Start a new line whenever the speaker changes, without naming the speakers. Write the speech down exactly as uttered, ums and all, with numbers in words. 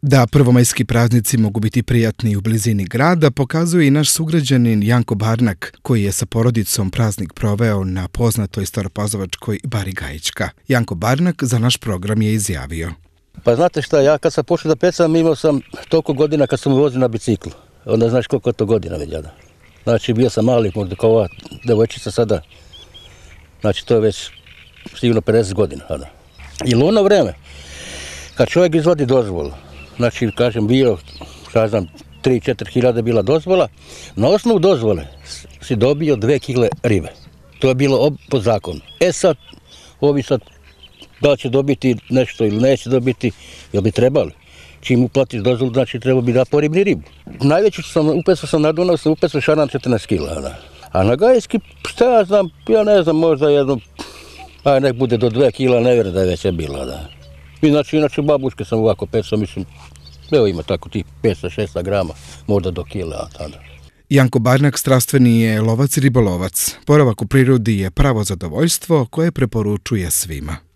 Da prvomajski praznici mogu biti prijatni u blizini grada pokazuje i naš sugrađanin Janko Barnak, koji je sa porodicom praznik proveo na poznatoj staropazovačkoj Bari Gajićka. Janko Barnak za naš program je izjavio:
Pa znate šta, ja kad sam počeo da pecam imao sam toliko godina kad sam vozio na biciklu. Onda znaš koliko je to godina već jada. Znači bio sam mali, možda kao ova devojčica sada. Znači to je već sigurno pedeset godina. Jada. I ono vreme, kad čovjek izvadi dozvolu, znači, kažem, bio, šta znam, tri do četiri hiljade bila dozvola, na osnovu dozvole si dobio dve kile ribe. To je bilo po zakonu. E sad, ovi sad, da li će dobiti nešto ili neće dobiti, jel bi trebali? Čim uplatiš dozvolu, znači treba bi da poribni ribu. Najveću sam, upecao sam na Dunav, sam upecao šaran četrnaest kila. Da. A na Gajski, šta ja znam, ja ne znam, možda jedno, aj nek bude do dve kila, ne vjerujem da je već je bila, da. Inače, inače babuške sam ovako pecao, mislim, evo ima tako tih petsto šesto grama, možda do kila tada.
Janko Barnak strastveni je lovac i ribolovac. Boravak u prirodi je pravo zadovoljstvo koje preporučuje svima.